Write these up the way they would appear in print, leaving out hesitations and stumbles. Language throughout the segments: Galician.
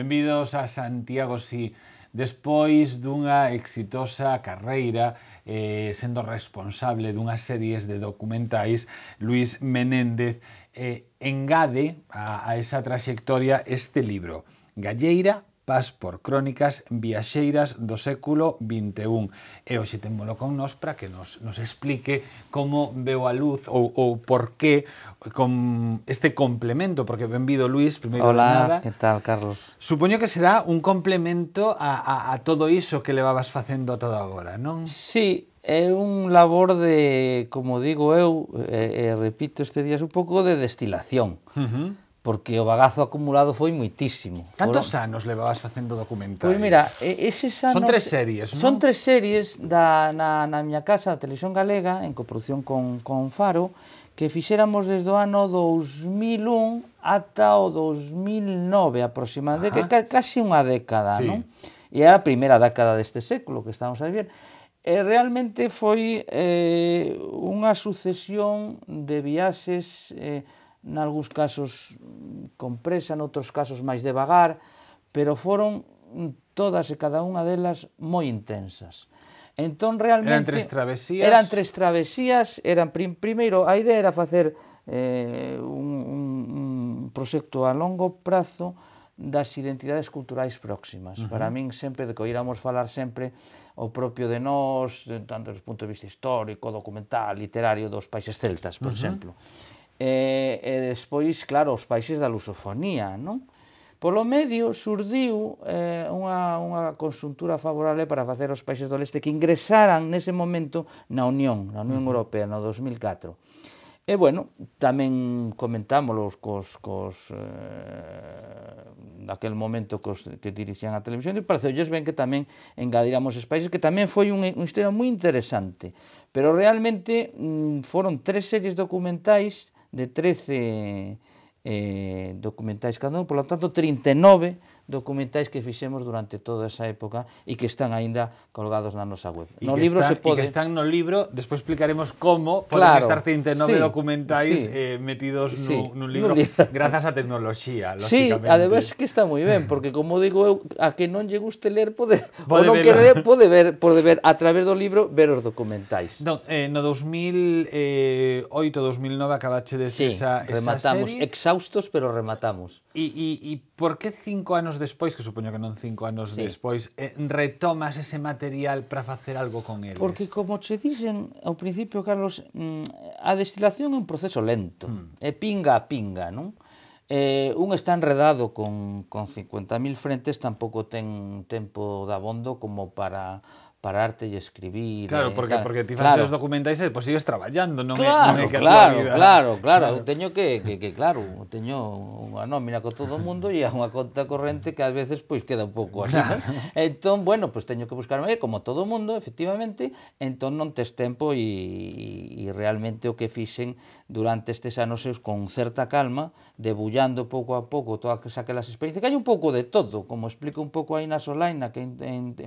Benvidos a Santiago, si. Despois dunha exitosa carreira sendo responsable dunhas series de documentais, Luís Menéndez engade a esa traxectoria este libro, Galleira, Pas por crónicas viaxeiras do século XXI. E hoxe témolo con nós para que nos explique como veo a luz ou por qué con este complemento, porque benvido Luís, primeiro de nada. Hola, que tal, Carlos? Supoño que será un complemento a todo iso que levabas facendo todo agora, non? Sí, é un labor de, como digo eu, repito este días, un pouco de destilación. Porque o bagazo acumulado foi moitísimo. Cantos anos levabas facendo documentais? Pois mira, eses anos... Son 3 series, non? Son 3 series na miña casa, a Televisión Galega, en coproducción con Faro, que fixéramos desde o ano 2001 ata o 2009 aproximadamente, casi unha década, sí, non? E é a primeira década deste século que estamos a ver. E realmente foi unha sucesión de viaxes, nalgúns casos con presa, noutros casos máis devagar, pero foron todas e cada unha delas moi intensas. Entón, realmente... Eran 3 travesías. Primeiro, a idea era facer un proxecto a longo prazo das identidades culturais próximas. Para min, sempre, de que oíramos falar sempre o propio de nós, tanto desde o punto de vista histórico, documental, literario, dos países celtas, por exemplo. E despois, claro, os países da lusofonía, non? Polo medio surdiu unha conxuntura favorable para facer os países do leste que ingresaran nese momento na Unión Europea, no 2004. E, bueno, tamén comentámoslos naquel momento que dirixían a televisión, e pareceulles ben que tamén engadiramos os países, que tamén foi unha historia moi interesante. Pero realmente foron 3 series documentais de 13 documentais cada un, por lo tanto 39 documentais que fixemos durante toda esa época e que están aínda colgados na nosa web. No libro se pode... E que están no libro, despois explicaremos como poden estar 39 documentais metidos nun libro, grazas á tecnoloxía, lógicamente. Sí, ademais que está moi ben, porque como digo eu, a que non lle guste ler pode ou non quere ler, pode ver a través do libro, ver os documentais. No 2008-2009 acabachedes esa rematamos, serie. Exhaustos, pero rematamos. E por que 5 anos despois, que supoño que non 5 anos despois, retomas ese material para facer algo con eles? Porque, como che dixen ao principio, Carlos, a destilación é un proceso lento, é pinga a pinga, non? Un está enredado con 50.000 frentes, tampouco ten tempo dabondo como para pararte e escribir. Claro, porque ti faces os documentais e depois sigues traballando, non é que a tua vida... Claro, teño teño unha nómina con todo o mundo e unha conta corrente que ás veces pois queda un pouco así, non? Entón, bueno, pois teño que buscarme, como todo o mundo, efectivamente, entón non tes tempo e realmente o que fixen durante estes anos con certa calma, debullando pouco a pouco todas aquelas experiencias, que hai un pouco de todo, como explico un pouco aí na Solaina, que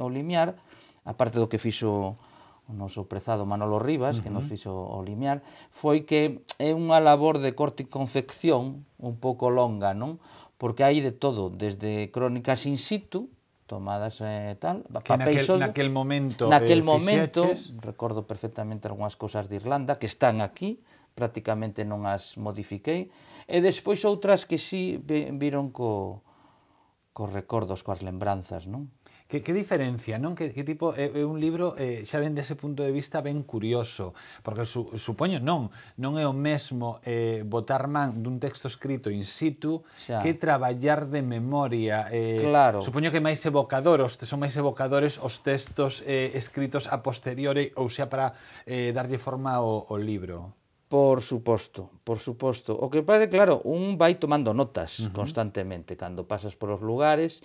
o Limiar, aparte do que fixo o noso prezado Manolo Rivas, que nos fixo o Limiar, foi que é unha labor de corte e confección un pouco longa, non? Porque hai de todo, desde crónicas in situ, tomadas tal, papéis soldo. Naquel momento recordo perfectamente algunhas cousas de Irlanda, que están aquí, prácticamente non as modifiquei, e despois outras que sí viron cos recordos, coas lembranzas, non? Que diferencia, non? Que tipo é un libro, xa ven dese punto de vista ben curioso, porque supoño non é o mesmo botar man dun texto escrito in situ que traballar de memoria. Supoño que máis son máis evocadores os textos escritos a posteriori ou xa para darlle forma ao libro. Por suposto. O que pasa, claro, un vai tomando notas constantemente cando pasas por os lugares.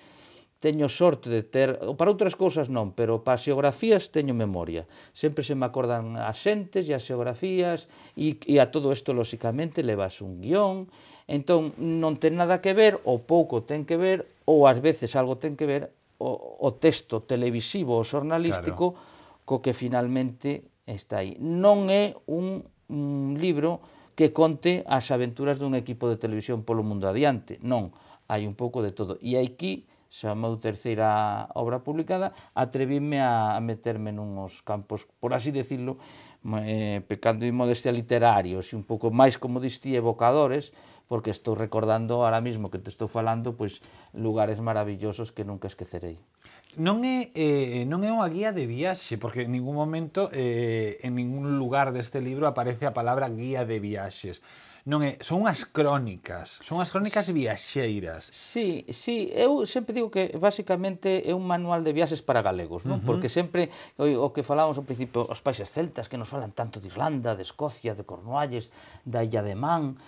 Teño sorte de ter, para outras cousas non, pero para as xeografías teño memoria. Sempre se me acordan as xentes e as xeografías e a todo isto, lóxicamente, levas un guión. Entón, non ten nada que ver, ou pouco ten que ver, ou ás veces algo ten que ver, o texto televisivo ou xornalístico co que finalmente está aí. Non é un libro que conte as aventuras dun equipo de televisión polo mundo adiante. Non, hai un pouco de todo. E aquí xa a meu terceira obra publicada, atrevíme a meterme nuns campos, por así decirlo, pecando de modestia literarios, e un pouco máis, como diste, evocadores, porque estou recordando ahora mismo que te estou falando, pois, lugares maravillosos que nunca esquecerei. Non é unha guía de viaxe, porque en ningún momento, en ningún lugar deste libro aparece a palabra guía de viaxes. Non é, son unhas crónicas viaxeiras. Sí, sí, eu sempre digo que basicamente é un manual de viaxes para galegos, non? Porque sempre o que falábamos ao principio, os países celtas que nos falan tanto de Irlanda, de Escocia, de Cornualles, da Illa de Man,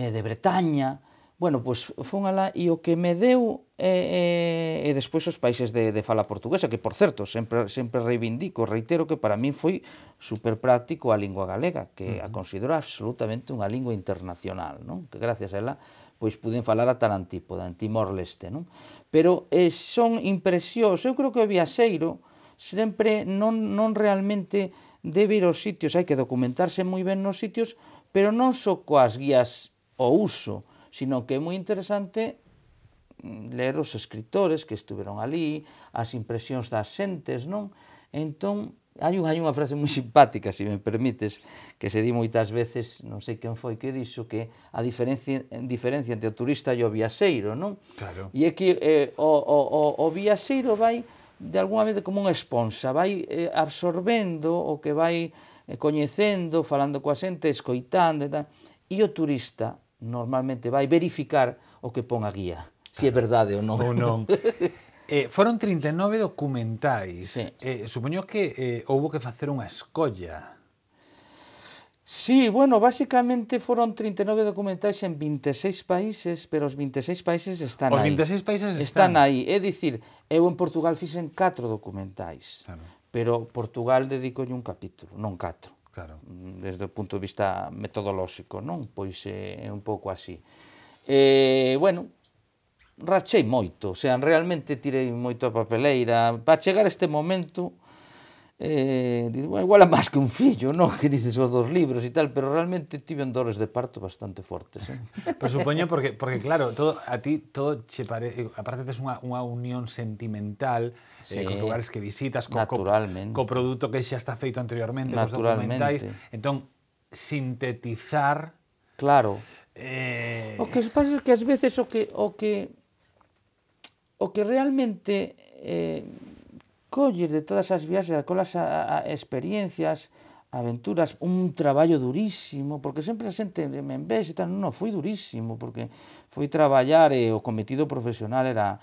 de Bretaña. Bueno, pois fun alá e o que me deu e despois os países de fala portuguesa, que por certo, sempre reivindico, reitero que para min foi super práctico a lingua galega, que a considero absolutamente unha lingua internacional, non? Que gracias a ela pois puden falar ata na Antípoda, en Timor-Leste, non? Pero son impresións, eu creo que o viaxeiro sempre non realmente debe ir aos sitios, hai que documentarse moi ben nos sitios, pero non só coas guías ao uso, sino que é moi interesante ler os escritores que estuveron ali, as impresións das xentes, non? Entón, hai unha frase moi simpática, se me permites, que se di moitas veces, non sei quen foi que dixo, que a diferencia entre o turista e o viaxeiro, non? Claro. E é que o viaxeiro vai, de alguna vez, como unha esponsa, vai absorbendo o que vai coñecendo, falando coa xente, escoitando e tal, e o turista normalmente vai verificar o que pon a guía, se é verdade ou non. Ou non. Foron 39 documentais. Sí. Supoño que houbo que facer unha escolla. Sí, bueno, basicamente foron 39 documentais en 26 países, pero os 26 países están Os aí. 26 países Están aí. É dicir, eu en Portugal fixen 4 documentais, Claro. pero Portugal dedicolle un capítulo, non 4. Claro. Desde o punto de vista metodolóxico, non? Pois é un pouco así. Bueno, rachei moito, o sea, realmente tirei moito a papeleira. Para chegar a este momento, igual é máis que un fillo, non? Que dices os dos libros e tal, pero realmente tive dores de parto bastante fortes. Pero supoño porque claro, a ti todo che aparte tes unha unión sentimental Sí, cos lugares que visitas, naturalmente. co produto que xa está feito anteriormente, cos documentais. Naturalmente. Entón, sintetizar Claro. O que pasa é que ás veces o que realmente colles de todas as viaxes, colas experiencias, aventuras, un traballo durísimo, porque sempre a xente me envexa e tal, non, foi durísimo, porque foi traballar e o cometido profesional era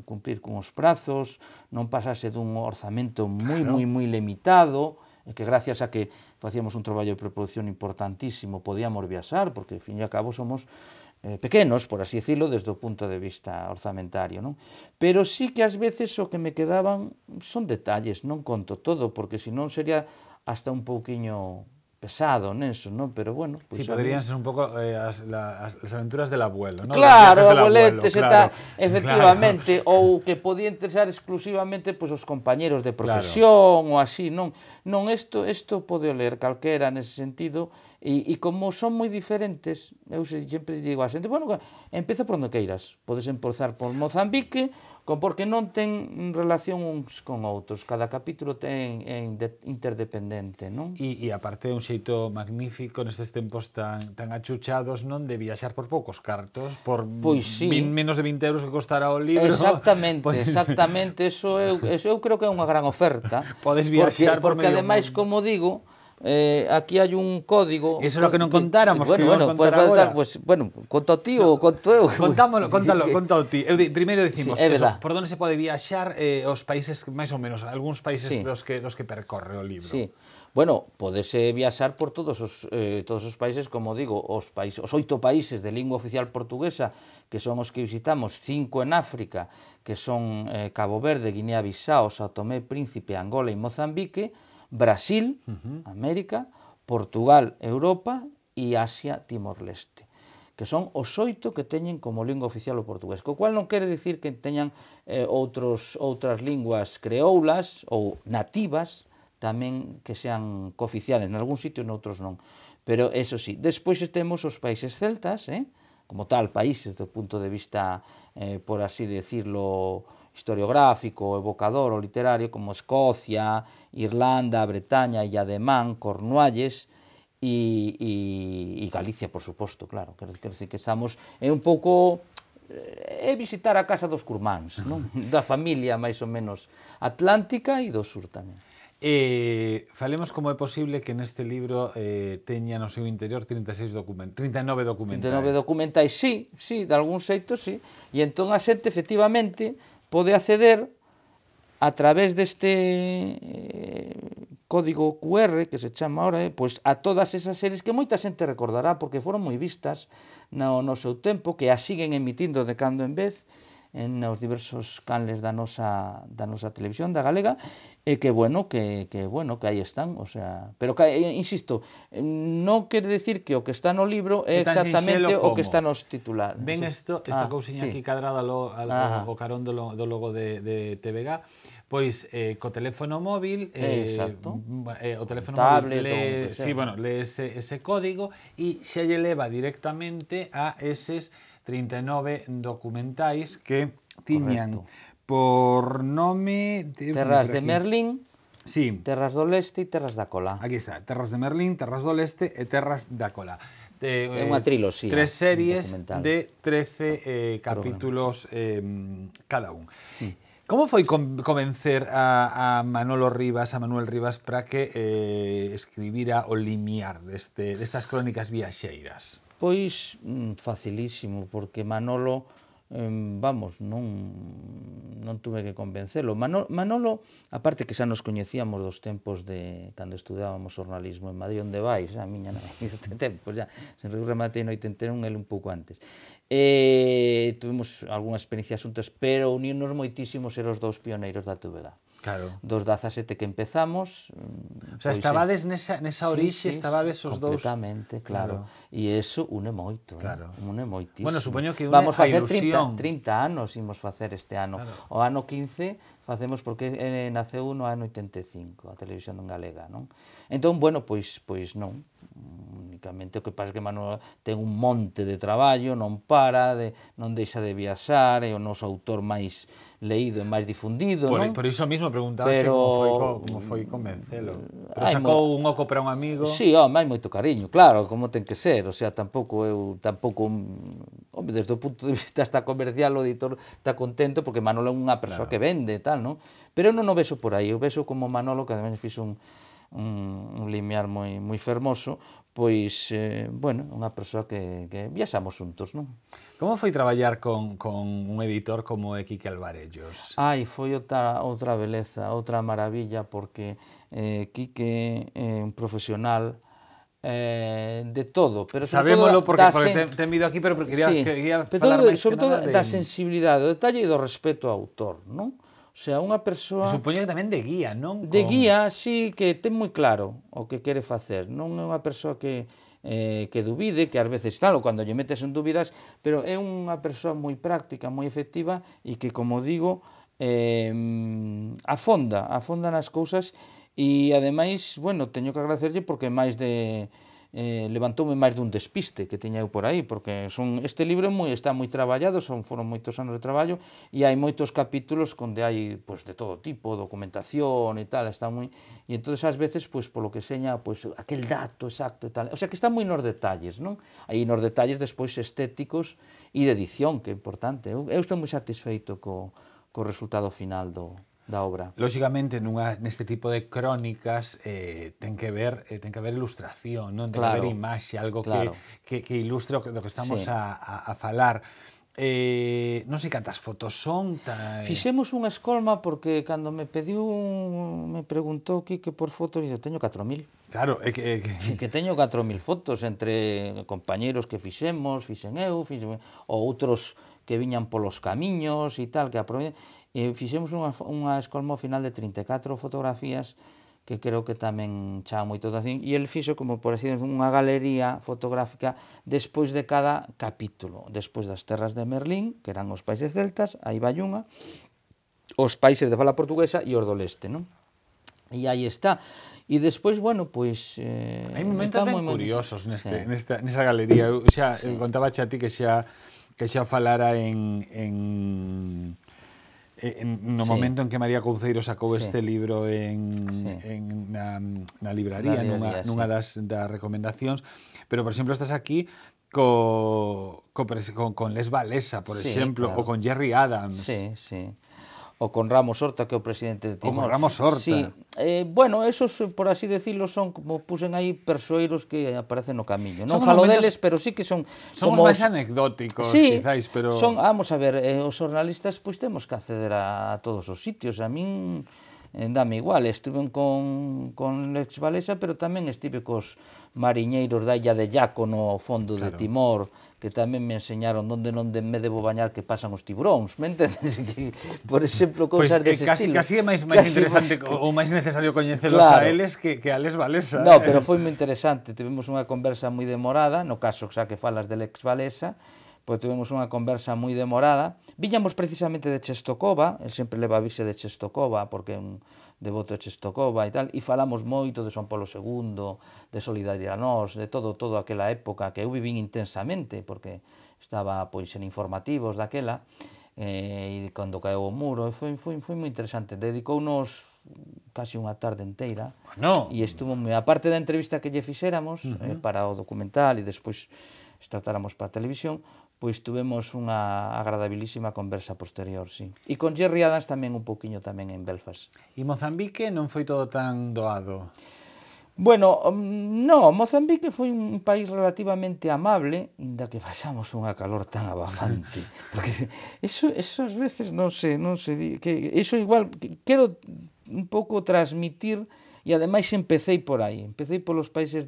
cumplir con os prazos, non pasase dun orzamento moi limitado, e que gracias a que facíamos un traballo de preproducción importantísimo podíamos viaxar, porque, ao fin e ao cabo, somos pequenos, por así decirlo, desde o punto de vista orzamentario, non? Pero sí que ás veces o que me quedaban son detalles, non conto todo, porque senón sería hasta un pouquiño pesado neso, non? Pero bueno, Sí, pois poderían ser un pouco as aventuras del abuelo, ¿no? Claro, Los viajes del abueletes e abuelo, tal, claro, efectivamente, ou que podía interesar exclusivamente pois os compañeros de profesión ou así, non? Non, isto pode ler calquera nese sentido, e como son moi diferentes, eu sempre digo a xente, bueno, empeza por onde queiras, podes empezar por Mozambique, porque non ten relación uns con outros, cada capítulo é interdependente, non? E aparte é un xeito magnífico nestes tempos tan achuchados, non, de viaxar por poucos cartos, por Pois sí. menos de 20 euros que costará o libro. Exactamente, exactamente, eso eu creo que é unha gran oferta. Podes viaxar por porque medio ademais, mundo. como digo, aquí hai un código. Eso é o que non contáramos, que bueno, vamos contar agora. Bueno, conto ti ou conto eu. Contalo ti. Primeiro decimos, Sí, é verdad. por onde se pode viaxar, os países, máis ou menos, algúns países Sí. dos que percorre o libro. Sí. Bueno, podese viaxar por todos os países, como digo, os 8 países de lingua oficial portuguesa, que son os que visitamos, 5 en África, que son Cabo Verde, Guinea-Bissau, Sao Tomé, Príncipe, Angola e Mozambique, Brasil, América, Portugal, Europa e Asia, Timor-Leste, que son os 8 que teñen como lingua oficial o portugués, co cual non quere dicir que teñan outras linguas creoulas ou nativas tamén que sean cooficiales, en algún sitio e noutros non. Pero, eso sí, despois temos os países celtas, como tal, países do punto de vista, por así decirlo, historiográfico, evocador ou literario, como Escocia, Irlanda, Bretaña, Illa de Man, Cornualles, e Galicia, por suposto, claro. Quero decir que estamos, é un pouco visitar a casa dos curmáns, non? Da familia máis ou menos atlántica e do sur tamén. Falemos como é posible que neste libro teña no seu interior 39 documentais. 39 documentais, sí, de algún xeito, sí. E entón a xente, efectivamente, pode acceder a través deste código QR, que se chama ahora, pois a todas esas series que moita xente recordará, porque foron moi vistas no seu tempo, que as siguen emitindo de cando en vez, nos diversos canles da nosa televisión, da galega, e que aí están, o sea, pero que, insisto, non quere decir que o que está no libro é exactamente o que está nos titulares. Ven esta cousiña aquí cadrada ao carón do logo de TVG, pois co teléfono móvil, o teléfono móvil lee ese código e xa lle leva directamente a eses 39 documentais que tiñan por nome Terras de Merlín, sí. Terras do Leste e Terras da Cola. Aquí está, Terras de Merlín, Terras do Leste e Terras da Cola. É unha triloxía. 3 series de 13 capítulos cada un. Como foi convencer a Manolo Rivas, a Manuel Rivas, para que escribira o limiar destas crónicas viaxeiras? Pois facilísimo, porque Manolo, vamos, non tuve que convencelo. Manolo, aparte que xa nos coñecíamos dos tempos de cando estudábamos xornalismo en Madrid, onde vais, a miña nai, tempos já, sen rematei no 81, el un pouco antes. Tuvimos algunhas experiencias xuntas, pero unirnos moitísimo ser os dous pioneiros da TVG. Claro. Dos 17 que empezamos... O sea, estabades nesa orixe, estabades os dous... Completamente, claro. E iso une moito, une moitísimo. Bueno, supoño que une a ilusión. 30 anos imos facer este ano. O ano 15 facemos porque naceu no ano 85, a televisión en galega, non? Entón, bueno, pois non. Únicamente o que pasa que Manuel ten un monte de traballo, non para, non deixa de viaxar, é o noso autor máis leído e máis difundido, non? Por iso mesmo preguntabache como foi convencelo. Pero sacou un oco para un amigo... Sí, home, hai moito cariño, claro, como ten que ser, o sea, tampouco, home, desde o punto de vista hasta comercial, o editor está contento, porque Manolo é unha persoa que vende e tal, non? Pero eu non o vexo por aí, eu vexo como Manolo, que ademais fixo un limiar moi fermoso, pois, bueno, unha persoa que viaxamos xuntos, non? Como foi traballar con un editor como é Quique Alvarellos? Foi outra beleza, outra maravilla, porque Quique é un profesional de todo, pero sabémolo porque ten vido aquí, pero quería falar máis que nada da sensibilidade, do detalle e do respeto ao autor, non? O sea, unha persoa... Supoño que tamén de guía, non? De guía, sí, que ten moi claro o que quere facer, non é unha persoa que dubide, que ás veces, claro, cando lle metes en dúbidas, pero é unha persoa moi práctica, moi efectiva e que, como digo, afonda nas cousas e, ademais, bueno, teño que agradecerlle porque máis de... levantoume máis dun despiste que tiña eu por aí, porque este libro está moi traballado, foron moitos anos de traballo e hai moitos capítulos onde hai pois de todo tipo, documentación e tal, está moi... E entón, ás veces, pois polo que seña, pois aquel dato exacto e tal, o sea, que está moi nos detalles, non? Aí nos detalles despois estéticos e de edición, que é importante. Eu estou moi satisfeito co resultado final da obra. Lóxicamente, neste tipo de crónicas ten que haber ilustración, non? Ten que haber imaxe, algo que ilustre do que estamos a falar. Non sei cantas fotos son. Fixemos unha escolma porque cando me preguntou Quique por fotos, eu teño 4.000. Claro, é que teño 4.000 fotos entre compañeros que fixen eu, ou outros que viñan polos camiños e tal, que aproveitan. E fixemos unha escolma ao final de 34 fotografías que creo que tamén chama moito atención, e el fixo como, por así decir, unha galería fotográfica despois de cada capítulo, despois das terras de Merlín, que eran os países celtas, aí vai unha, os países de fala portuguesa e os do leste, non? E aí está. E despois, bueno, pois... Hai momentos ben curiosos nesa galería. Eu xa contaba a ti que xa falara no momento en que María Couceiro sacou este libro na libraría, nunha das recomendacións, pero, por exemplo, estás aquí con Les Walesa, por exemplo, ou con Gerry Adams. Sí, sí. O con Ramos Horta, que é o presidente de Timor. O con Ramos Horta. Sí. Bueno, esos, por así decirlo, son como pusen aí persoeiros que aparecen no camiño. Non falo deles, pero sí que son... Son os máis anecdóticos, quizáis, pero... Vamos a ver, os xornalistas pois temos que acceder a todos os sitios. A min dame igual, estuve con Les Walesa, pero tamén estive cos mariñeiros da illa de Yaco no fondo de Timor, que tamén me enseñaron onde non me debo bañar que pasan os tiburóns, me entendes? Por exemplo, cousas dese estilo. Casi é máis interesante ou máis necesario coñecelos a eles que a Les Walesa. No, pero foi moi interesante, tivemos unha conversa moi demorada, no caso xa que falas de Les Walesa, pois tivemos unha conversa moi demorada. Viñamos precisamente de Czestochowa, el sempre leva a virxe de Czestochowa, porque é un devoto de Czestochowa e tal, e falamos moito de Son Paulo II, de Solidaridade Nós, de todo aquela época que eu vivín intensamente, porque estaba pois en informativos daquela, e cando caeu o muro, e foi moi interesante. Dedicounos casi unha tarde inteira, e estuvo moi... Aparte da entrevista que lle fixéramos para o documental e despois tratáramos para a televisión, pois tuvemos unha agradabilísima conversa posterior, sí. E con Gerry Adams tamén un poquinho tamén en Belfast. E Mozambique non foi todo tan doado? Bueno, no, Mozambique foi un país relativamente amable, inda que pasamos unha calor tan abafante. Porque eso ás veces non se di, que eso igual quero un pouco transmitir, e ademais empecéi por aí, empecéi polos países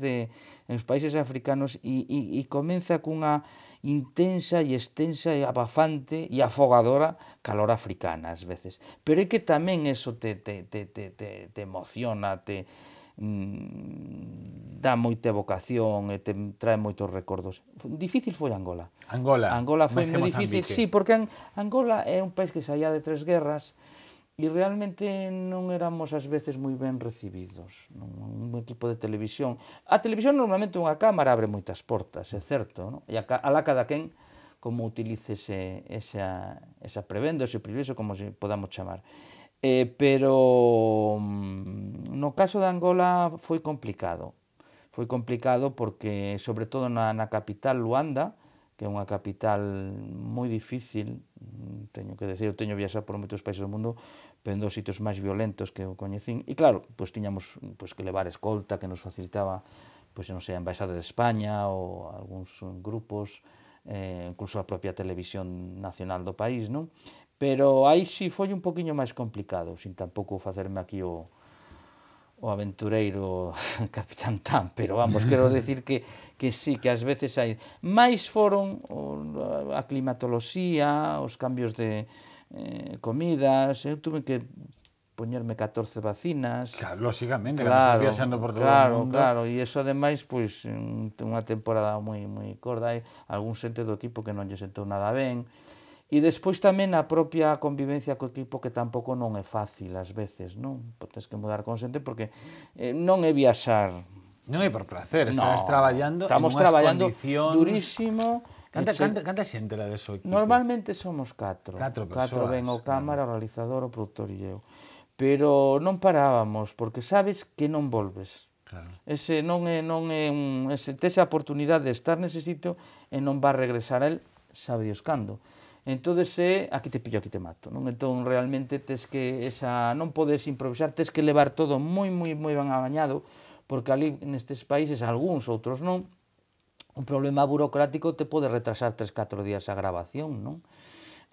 africanos e comeza cunha intensa e extensa e abafante e afogadora calor africana ás veces. Pero é que tamén eso te emociona, dá moita evocación e te trae moitos recordos. Difícil foi Angola. Angola foi moi difícil, sí, porque Angola é un país que saía de 3 guerras e realmente non éramos ás veces moi ben recibidos. Un equipo de televisión... A televisión normalmente unha cámara abre moitas portas, é certo, non? E alá cada quen como utilice esa prebenda, ese privilexio, como se podamos chamar. Pero no caso de Angola foi complicado. Foi complicado porque, sobre todo na capital, Luanda, que é unha capital moi difícil, teño que decir, eu teño viaxado por moitos países do mundo, pero en dos sitios máis violentos que eu coñecín, e claro, pois tiñamos que levar escolta que nos facilitaba, pois non sei, a Embaixada de España ou algúns grupos, incluso a propia televisión nacional do país, non? Pero aí sí foi un poquinho máis complicado, sin tampouco facerme aquí o aventureiro Capitán Tan, pero vamos, quero decir que sí, que ás veces hai... Mais foron a climatoloxía, os cambios de comidas, eu tuve que poñerme 14 vacinas. Claro, lóxicamente, cando estás viaxando por todo o mundo. Claro, e iso ademais, pois, unha temporada moi corda, hai algún xente do equipo que non lle sentou nada ben. E despois tamén a propia convivencia co equipo, que tampouco non é fácil ás veces, non? Tens que mudar con xente porque non é viaxar. Non é por placer, estás traballando en unhas condicións... durísimo. Canta xente era deso equipo? Normalmente somos 4. 4 persoas. 4 ven o cámara, o realizador, o produtor e eu. Pero non parábamos, porque sabes que non volves. Claro. Ese non é tes a oportunidade de estar nese sitio e non vas regresar a él, sabe Dios cando. Entonces aquí te pillo, aquí te mato, non? Entón realmente tes que non podes improvisar, tes que levar todo moi ben abañado, porque ali nestes países, algúns, outros non, un problema burocrático te pode retrasar 3-4 días a grabación, non?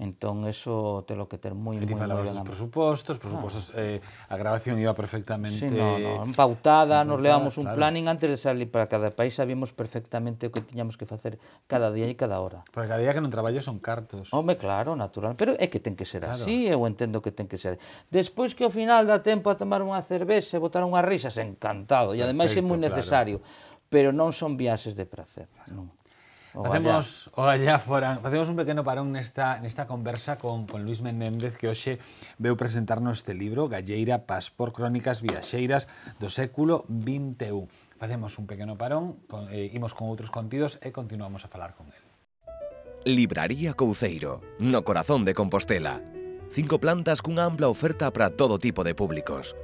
Entón, eso te lo que ter moi ben. E ti falabas dos presupostos, a grabación iba perfectamente... Sí, pautada, nos levamos un planning antes de salir para cada país, sabíamos perfectamente o que tiñamos que facer cada día e cada hora. Porque cada día que non traballo son cartos. Home, claro, natural, pero é que ten que ser así, eu entendo que ten que ser. Despois que ao final dá tempo a tomar unha cervexa e botar unhas risas, encantado, e ademais é moi necesario, pero non son viaxes de prazer, non. Facemos un pequeno parón nesta conversa con Luis Menéndez, que hoxe veu presentarnos este libro, Galleira, Paspor, Crónicas viaxeiras do século XXI. Facemos un pequeno parón, imos con outros contidos e continuamos a falar con el. Libraría Couceiro, no corazón de Compostela. 5 plantas cunha ampla oferta para todo tipo de públicos.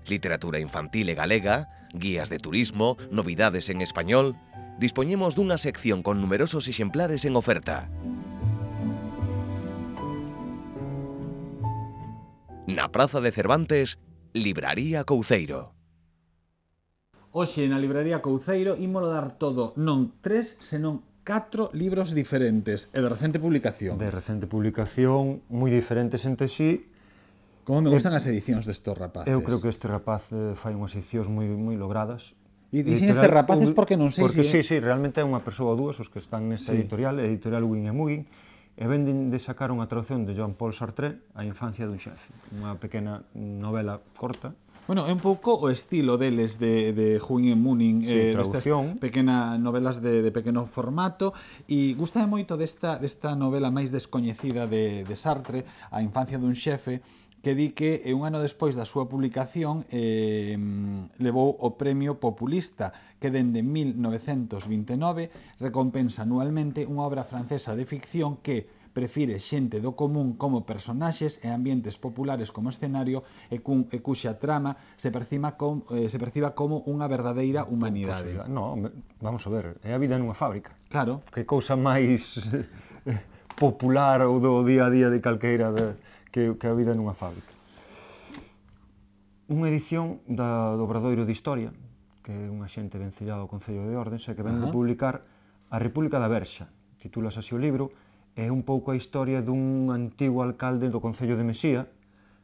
Literatura infantil e galega, guías de turismo, novidades en español. Dispoñemos dunha sección con numerosos exemplares en oferta. Na Praza de Cervantes, Libraría Couceiro. Hoxe na Libraría Couceiro ímolo dar todo, non 3, senón 4 libros diferentes e de recente publicación. De recente publicación, moi diferentes entre sí. Como me gustan as edicións destos rapaces. Eu creo que este rapaz fai unhas edicións moi logradas. E dixen estes rapaces porque non sei porque se... sí, realmente é unha persoa ou dúas os que están nesta editorial, editorial Wing e Mugging, e venden de sacar unha traducción de Jean-Paul Sartre, A infancia dun xefe, unha pequena novela corta. Bueno, é un pouco o estilo deles de Wing e Mugging, traducción. Pequenas novelas de pequeno formato, e gustame moito desta novela máis descoñecida de Sartre, A infancia dun xefe, que di que un ano despois da súa publicación levou o Premio Populista, que dende 1929 recompensa anualmente unha obra francesa de ficción que prefire xente do común como personaxes e ambientes populares como escenario e cuxa trama se perciba como unha verdadeira humanidade. No, vamos a ver, é a vida nunha fábrica. Claro. Que cousa máis popular ou do día a día de calqueira que a vida nunha fábrica. Unha edición do Obradoiro de Historia, que é unha xente vencellada ao Concello de Ordes, e que ven de publicar A República da Verxa. Titulas así o libro, é un pouco a historia dun antigo alcalde do Concello de Mesía,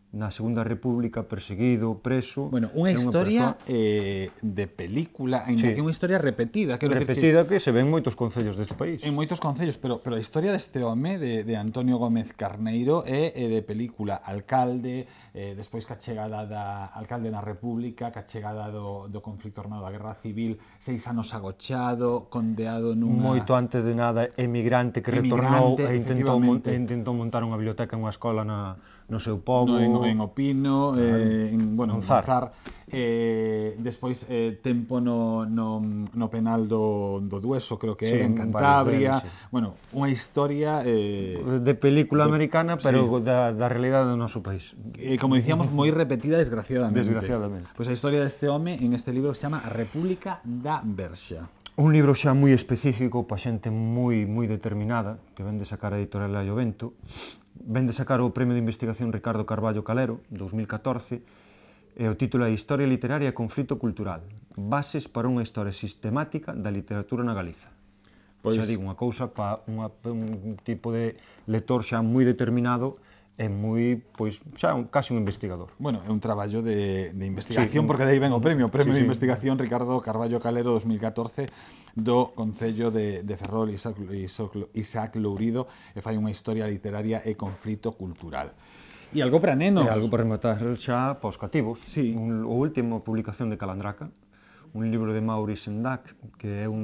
na Segunda República, perseguido, preso... Bueno, unha historia de película, ainda que unha historia repetida. Repetida que se ven en moitos concellos deste país. En moitos concellos, pero a historia deste home, de Antonio Gómez Carneiro, é de película. Alcalde, despois que a chegada da alcalde na República, que a chegada do conflito armado da Guerra Civil, 6 anos agochado, condeado nunha... Moito antes de nada, emigrante que retornou e intentou montar unha biblioteca en unha escola no seu pobo, en Opino, en Monzar, despois tempo no penal do Dueso, creo que é, en Cantabria, bueno, unha historia de película americana, pero da realidade do noso país. Como dicíamos, moi repetida, desgraciadamente. Pois a historia deste home en este libro se chama A República da Verxa. Un libro xa moi específico para xente moi determinada, que ven de sacar a editorial Allovento. Ven de sacar o Premio de Investigación Ricardo Carballo Calero, 2014, e o título é Historia literaria e conflito cultural. Bases para unha historia sistemática da literatura na Galiza. Xa digo, unha cousa para un tipo de lector xa moi determinado e moi, pois, xa casi un investigador. Bueno, é un traballo de investigación, porque de aí ven o premio de Investigación Ricardo Carballo Calero 2014 do Concello de Ferrol, Isaac Lourido, e fai unha historia literaria e conflito cultural. E algo para nenos. E algo para rematar xa para os cativos. Sí. O último publicación de Calandraca, un libro de Maurice Sendak, que é o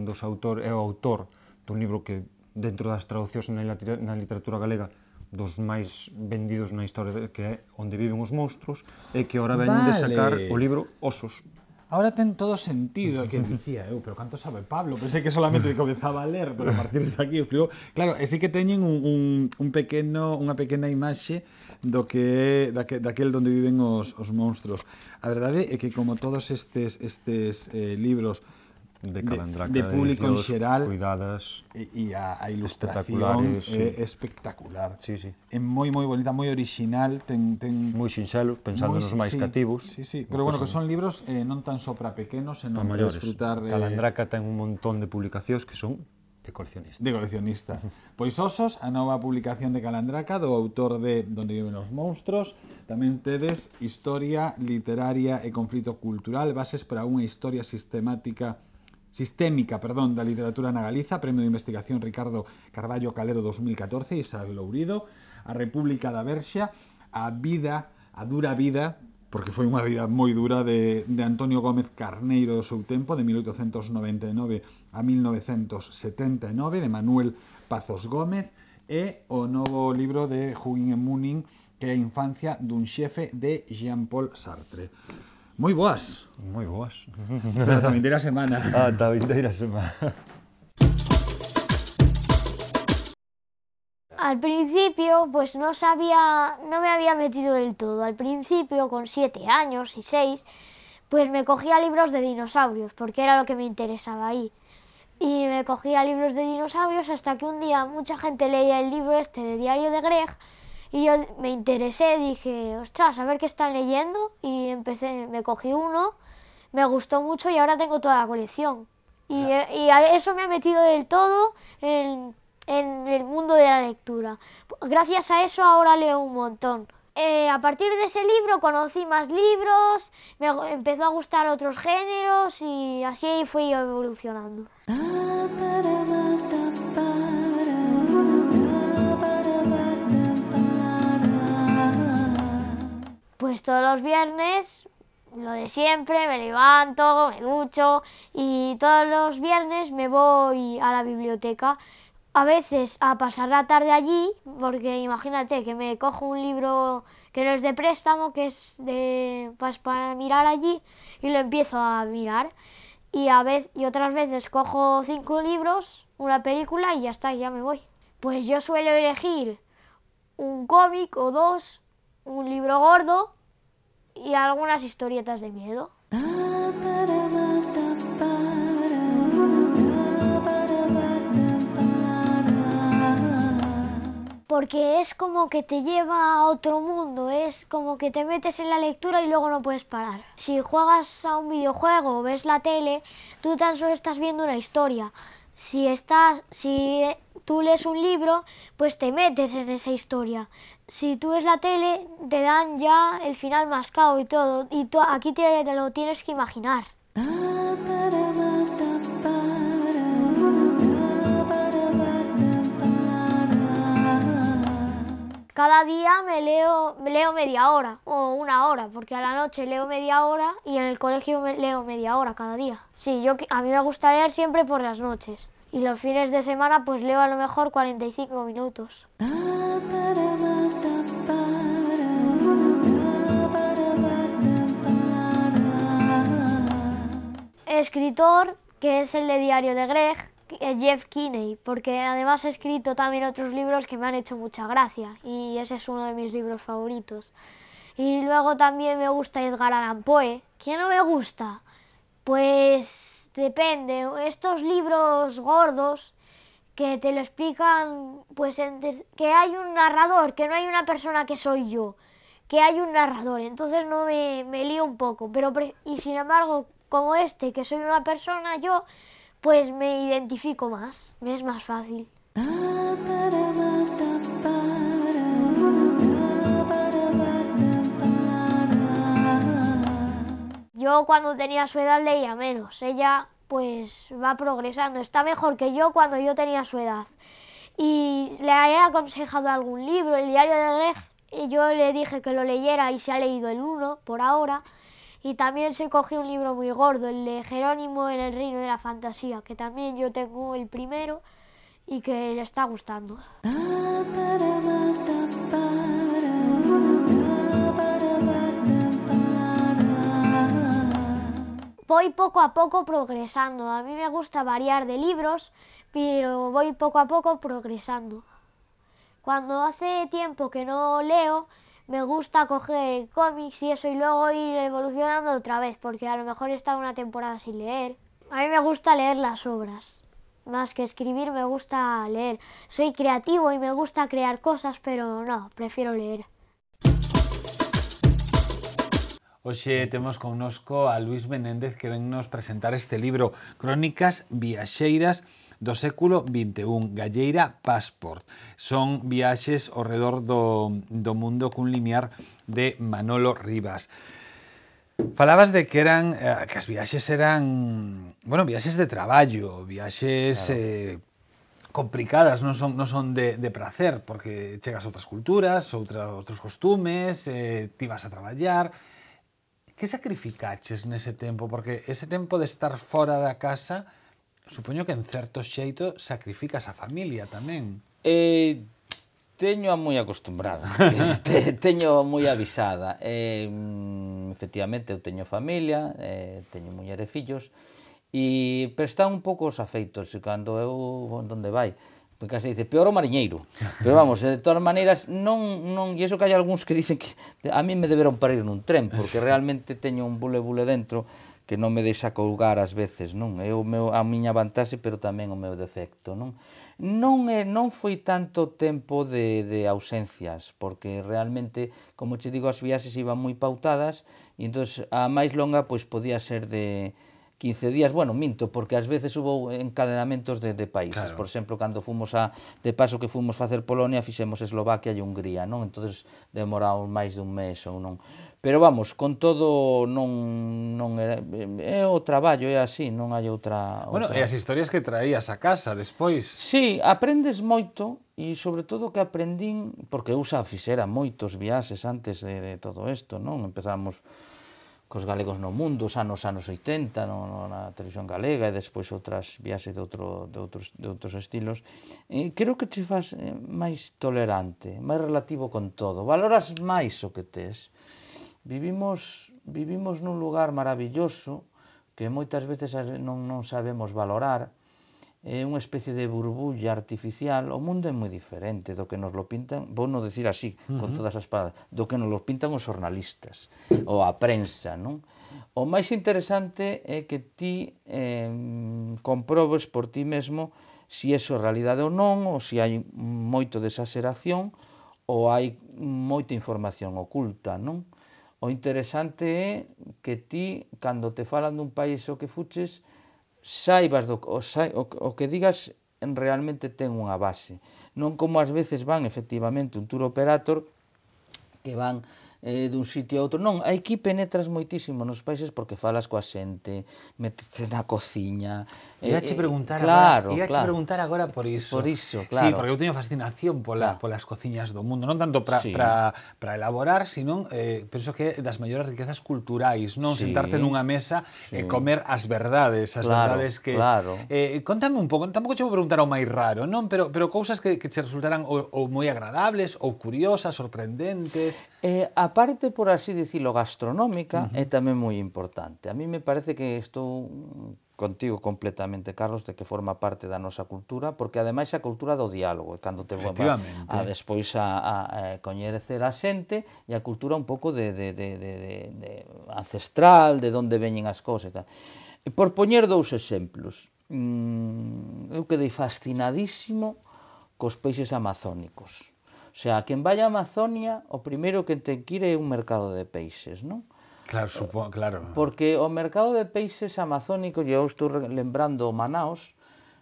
autor dun libro que, dentro das traducións na literatura galega, dos máis vendidos na historia, que é Onde viven os monstros, e que ora veñen de sacar o libro Osos. Ahora ten todo sentido, que dicía eu, pero canto sabe Pablo? Pensei que solamente comezaba a ler, pero a partir de aquí explicou. Claro, e sí que teñen unha pequena imaxe do que daquel onde viven os monstros. A verdade é que como todos estes libros de Calandraca, de público en xeral, cuidadas, e a ilustración é espectacular. É moi bonita, moi original, ten moi sinxelo, pensando nos máis cativos. Pero bueno, que son libros non tan só para pequenos, senón para disfrutar. Calandraca ten un montón de publicacións que son de coleccionista. Pois Osos, a nova publicación de Calandraca, do autor de Donde viven os monstros. Tamén tedes Historia literaria e conflito cultural, bases para unha historia sistémica da literatura na Galiza, Premio de Investigación Ricardo Carballo Calero 2014, Isaac Lourido, A República da Verxa, a dura vida porque foi unha vida moi dura de Antonio Gómez Carneiro do seu tempo, de 1899 a 1979, de Manuel Pazos Gómez, e o novo libro de Huguín e Munin, que é a infancia dun xefe, de Jean-Paul Sartre. Moi boas. Moi boas. Pero tamén dirá semana. Ata a vindeira semana. Al principio, pues no sabía, no me había metido del todo. Al principio, con 7 años y 6, pues me cogía libros de dinosaurios, porque era lo que me interesaba ahí. Y me cogía libros de dinosaurios hasta que un día mucha gente leía el libro este de Diario de Greg y yo me interesé, dije, ostras, a ver qué están leyendo, y me cogí uno, me gustó mucho y ahora tengo toda la colección. Y a eso me ha metido del todo en el mundo de la lectura. Gracias a eso ahora leo un montón. A partir de ese libro conocí más libros, me empezó a gustar otros géneros y así fui yo evolucionando. Pues todos los viernes, lo de siempre, me levanto, me ducho y todos los viernes me voy a la biblioteca. A veces a pasar la tarde allí, porque imagínate que me cojo un libro que no es de préstamo, que es pues, para mirar allí, y lo empiezo a mirar. Y otras veces cojo 5 libros, una película y ya está, ya me voy. Pues yo suelo elegir un cómic o 2, un libro gordo y algunas historietas de miedo. Porque es como que te lleva a otro mundo, es como que te metes en la lectura y luego no puedes parar. Si juegas a un videojuego o ves la tele, tú tan solo estás viendo una historia. Si tú lees un libro, pues te metes en esa historia. Si tú ves la tele, te dan ya el final mascado y todo, y aquí te lo tienes que imaginar. Cada día me leo media hora o una hora, porque a la noche leo media hora y en el colegio leo media hora cada día. Sí, a mí me gusta leer siempre por las noches. Y los fines de semana pues leo a lo mejor 45 minutos. Escritor, que es el de Diario de Greg, Jeff Kinney, porque además he escrito también otros libros que me han hecho mucha gracia y ese es uno de mis libros favoritos. Y luego también me gusta Edgar Allan Poe. ¿Quién no me gusta? Pues depende. Estos libros gordos que te lo explican, pues que hay un narrador, que no hay una persona que soy yo, que hay un narrador, entonces no me lío un poco, y sin embargo, como que soy una persona yo, pues me identifico más, me es más fácil. Yo cuando tenía su edad leía menos, ella pues va progresando, está mejor que yo cuando yo tenía su edad. Y le he aconsejado algún libro, el Diario de Greg, y yo le dije que lo leyera y se ha leído el 1 por ahora. Y también se cogió un libro muy gordo, el de Jerónimo en el Reino de la Fantasía, que también yo tengo el primero y que le está gustando. Voy poco a poco progresando. A mí me gusta variar de libros, pero voy poco a poco progresando. Cuando hace tiempo que no leo, me gusta coger cómics y eso y luego ir evolucionando otra vez, porque a lo mejor he estado una temporada sin leer. A mí me gusta leer las obras, más que escribir me gusta leer. Soy creativo y me gusta crear cosas, pero no, prefiero leer. Hoxe temos connosco a Luis Menéndez que ven nos presentar este libro Crónicas viaxeiras do século XXI, Galleira Passport. Son viaxes ao redor do mundo cun limiar de Manolo Rivas. Falabas de que as viaxes eran, bueno, viaxes de traballo, viaxes complicadas, non son de prazer, porque chegas a outras culturas, outros costumes, ti vas a traballar. Que sacrificaches nese tempo? Porque ese tempo de estar fora da casa, supoño que en certo xeito sacrificas a familia tamén. Teño moi acostumbrada, teño moi avisada. Efectivamente, eu teño familia, teño muller e fillos, pero están un pouco os afeitos, e cando eu vou onde vai, porque case dice, peor o mariñeiro. Pero vamos, de todas maneiras, e iso que hai algúns que dicen que a mí me deberon parir nun tren, porque realmente teño un bule dentro que non me deixa colgar ás veces, non? É a miña vantaxe, pero tamén o meu defecto, non? Non foi tanto tempo de ausencias, porque realmente, como che digo, as viaxes iban moi pautadas, e entón a máis longa pois podía ser de 15 días, bueno, minto, porque ás veces hubo encadenamentos de países. Claro. Por exemplo, cando fomos de paso que fomos facer Polonia, fixemos Eslovaquia e Hungría, non? Entón demoramos máis dun mes ou non. Pero vamos, con todo non é o traballo, é así, non hai outra... Bueno, e as historias que traías a casa despois. Sí, aprendes moito, e sobre todo que aprendín, porque eu xa fixera moitos viaxes antes de todo isto, non? Empezamos cos galegos no mundo, xa nos anos 80, na televisión galega, e despois outras viaxes de outros estilos. Creo que te faz máis tolerante, máis relativo con todo. Valoras máis o que tes. Vivimos nun lugar maravilloso que moitas veces non sabemos valorar. É unha especie de burbulla artificial. O mundo é moi diferente do que nos lo pintan, vou non decir así, con todas as palabras, do que nos lo pintan os xornalistas ou a prensa, non? O máis interesante é que ti comprobes por ti mesmo se iso é realidade ou non, ou se hai moito de exageración, ou hai moita información oculta, non? O interesante é que ti, cando te falan dun país o que fuches, saibas o que digas realmente ten unha base. Non como ás veces van, efectivamente, un tour operator que van dun sitio a outro. Non, aquí penetras moitísimo nos países porque falas coa xente, metes na cociña. Iache preguntar agora por iso. Por iso, claro. Sí, porque eu teño fascinación polas cociñas do mundo, non tanto para elaborar, sino penso que das maiores riquezas culturais, non? Sentarte nunha mesa e comer as verdades, verdades que... Claro. Contame un pouco, tampouco che vou preguntar o máis raro, non? Pero cousas que che resultaran ou moi agradables, ou curiosas, sorprendentes... A parte, por así dicilo, gastronómica é tamén moi importante. A mí me parece que estou contigo completamente, Carlos, de que forma parte da nosa cultura, porque ademais a cultura do diálogo, cando te despois a coñecer a xente, e a cultura un pouco de ancestral, de onde veñen as cousas. Por poñer dous exemplos, eu quedei fascinadísimo cos peixes amazónicos. O sea, quen vai a Amazonia, o primeiro que ten que ir é un mercado de peixes, non? Claro, claro. Porque o mercado de peixes amazónicos, e eu estou lembrando Manaos,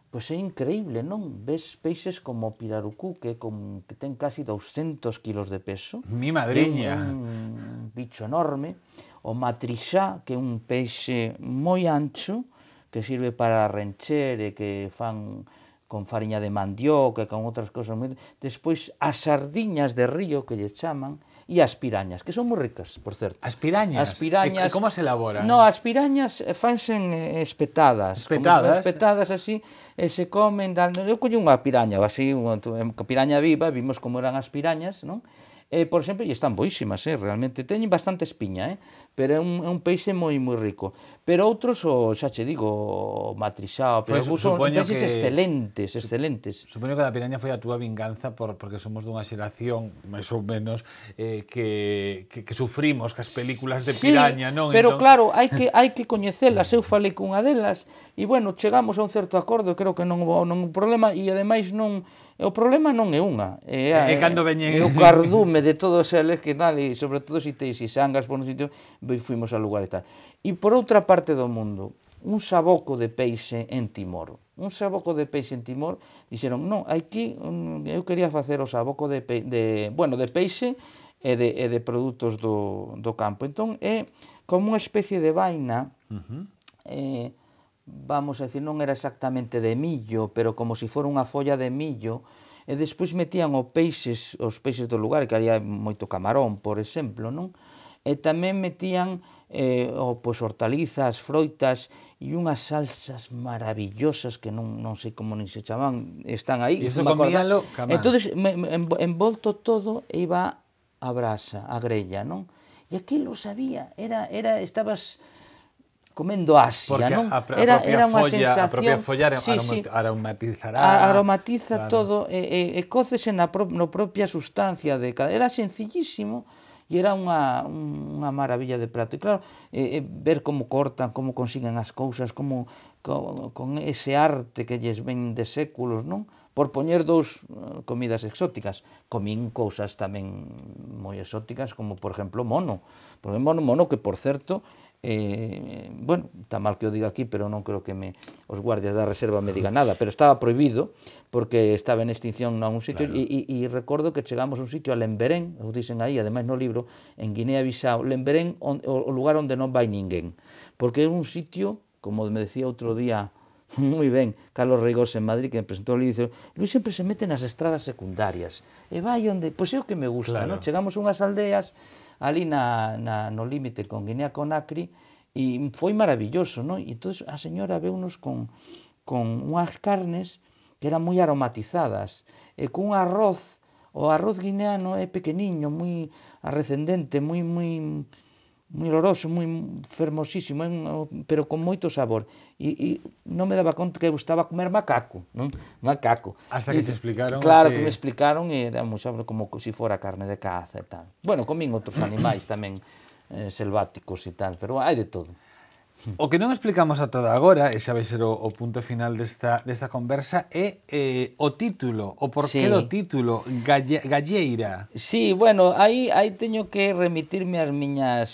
pois é increíble, non? Ves peixes como o pirarucú, que ten casi 200 kilos de peso. Mi madriña. Un bicho enorme. O matrixá, que é un peixe moi ancho, que sirve para rencher e que fan con fariña de mandioca e con outras cousas. Despois, as sardiñas de río, que lle chaman, e as pirañas, que son moi ricas, por certo. As pirañas? As pirañas... E como se elaboran? No, as pirañas fanse espetadas. Espetadas? Espetadas así, e se comen... Eu collo unha piraña, así, unha piraña viva, vimos como eran as pirañas, non? Por exemplo, e están boísimas, realmente teñen bastante espiña, pero é un peixe moi rico. Pero outros, xa che digo, o matrixá, o pirarucú, son peixes excelentes. Supoño que a piraña foi a túa vinganza porque somos dunha xeración, máis ou menos, que sufrimos cas películas de piraña, non? Pero claro, hai que coñecelas. Eu falei cunha delas, e bueno, chegamos a un certo acordo, creo que non houve un problema, e ademais non... O problema non é unha, é cando veñen... o cardume de todos eles que tal, e sobre todo se te xangas por un sitio, fuimos ao lugar e tal. E por outra parte do mundo, un saboco de peixe en Timor. Un saboco de peixe en Timor, dixeron, non, aquí eu quería facer o saboco de peixe e de produtos do campo. Entón, é como unha especie de vaina, vamos a decir, non era exactamente de millo, pero como se fora unha folla de millo, e despois metían os peixes do lugar, que había moito camarón, por exemplo, non? E tamén metían ou pois hortalizas, froitas e unhas salsas maravillosas que non sei como nin se chaman, están aí. E iso comíalo camá. Entón, envolto todo iba a brasa, a grella, non? E aquilo sabía, estabas comendo Asia, Porque non? a propia folla sí, aromatizará. Aromatiza todo e cócese na propia sustancia de cada... Era sencillísimo e era unha maravilla de prato. E claro, ver como cortan, como consiguen as cousas, como con ese arte que lles ven de séculos, non? Por poñer dous comidas exóticas. Comín cousas tamén moi exóticas, como por exemplo mono. Por exemplo, mono que, por certo, bueno, está mal que o diga aquí, pero non creo que os guardias da reserva me digan nada, pero estaba prohibido porque estaba en extinción nun sitio, claro. e recordo que chegamos a un sitio a Lemberén, o dicen aí, ademais no libro, en Guinea-Bissau, Lemberén, o lugar onde non vai ninguén, porque é un sitio, como me decía outro día, moi ben, Carlos Reigós en Madrid, que me presentou ali, dice, Luis sempre se mete nas estradas secundarias, e vai onde, pois é o que me gusta, claro. non? Chegamos a unhas aldeas, ali no límite con Guinea-Conakry, e foi maravilloso, non? E entón a señora veunos con unhas carnes que eran moi aromatizadas, e cun arroz, o arroz guineano é pequeniño, moi arrecendente, moi oloroso, moi fermosísimo, pero con moito sabor. E non me daba conta que gustaba comer macaco, non? Macaco. Hasta que te explicaron. Claro, que me explicaron e era moi sabor como se fora carne de caza e tal. Bueno, comín outros animais tamén selváticos e tal, pero hai de todo. O que non explicamos a toda agora, e xa vai ser o punto final desta conversa, é o título, o porqué do título, Galleira. Sí, bueno, aí teño que remitirme ás miñas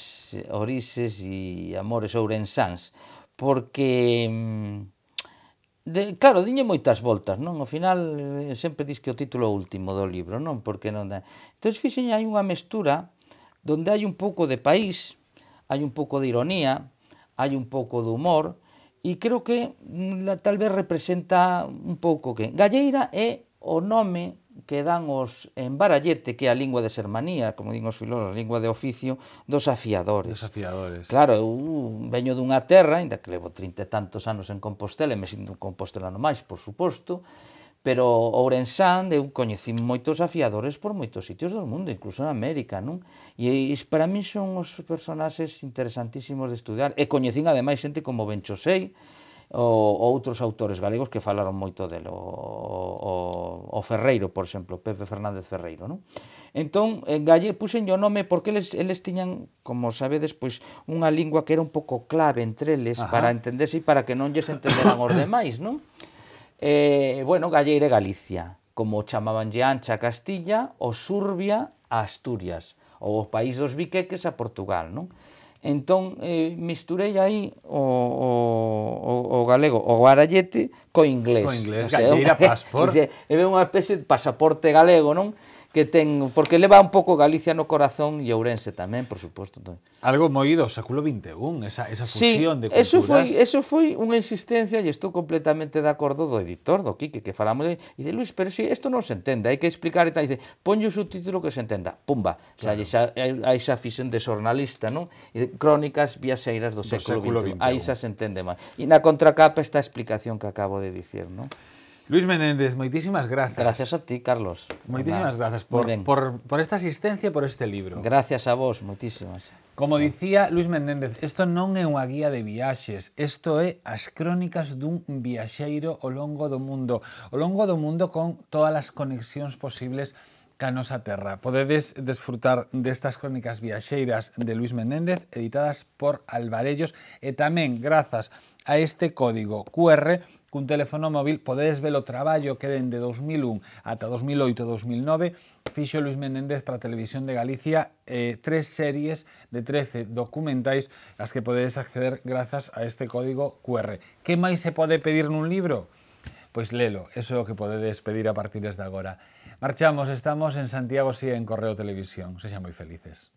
orixes e amores ourensáns, porque, claro, diñe moitas voltas, non? Ao final, sempre dis que o título último do libro, non? Porque non dá. Entón, fixen hai unha mestura donde hai un pouco de país, hai un pouco de ironía, hai un pouco de humor, e creo que tal vez representa un pouco que... Galleira é o nome que dan os en Barallete, que é a lingua de sermanía, como din os filólogos, a lingua de oficio, dos afiadores. Dos afiadores. Claro, eu veño dunha terra, ainda que levo 30 e tantos anos en Compostela, e me sinto un compostelano máis, por suposto, pero Ourensán, eu coñecín moitos afiadores por moitos sitios do mundo, incluso en América, non? E para mí son os personaxes interesantísimos de estudiar, e coñecín ademais xente como Benchosei, ou outros autores galegos que falaron moito dele, o Ferreiro, por exemplo, Pepe Fernández Ferreiro, non? Entón, puxenlle o nome porque eles tiñan, como sabedes, pois unha lingua que era un pouco clave entre eles para entenderse e para que non lles entenderan os demais, non? Bueno, Galleira e Galicia, como chamabanlle Ancha a Castilla, o Surbia a Asturias, ou o país dos biqueques a Portugal, non? Entón, misturei aí o galego, o barallete, co inglés. Co inglés, Galleira Passport. É unha especie de pasaporte galego, non? Que ten, porque leva un pouco Galicia no corazón e Ourense tamén, por suposto. Algo moi do século XXI, esa fusión de culturas. Eso foi unha insistencia e estou completamente de acordo do editor, do Quique, que falamos de... E dice, Luis, pero si isto non se entende, hai que explicar e tal. E dice, ponlle o subtítulo que se entenda. Pumba, claro. Aí xa fixen de xornalista, non? E crónicas viaxeiras do século XXI. Aí xa se entende máis. E na contracapa esta explicación que acabo de dicir, non? Luis Menéndez, moitísimas grazas. Gracias a ti, Carlos. Moitísimas grazas por esta asistencia e por este libro. Gracias a vos, moitísimas. Como dicía Luis Menéndez, isto non é unha guía de viaxes, isto é as crónicas dun viaxeiro ao longo do mundo con todas as conexións posibles ca nosa terra. Podedes desfrutar destas crónicas viaxeiras de Luis Menéndez, editadas por Alvarellos, e tamén, grazas a este código QR, cun teléfono móvil podedes ver o traballo que dende 2001 ata 2008-2009 fixo Luis Menéndez para a Televisión de Galicia, 3 series de 13 documentais as que podedes acceder grazas a este código QR. Que máis se pode pedir nun libro? Pois lelo, eso é o que podedes pedir a partir de agora. Marchamos, estamos en Santiago Sía en Correo Televisión. Sexan moi felices.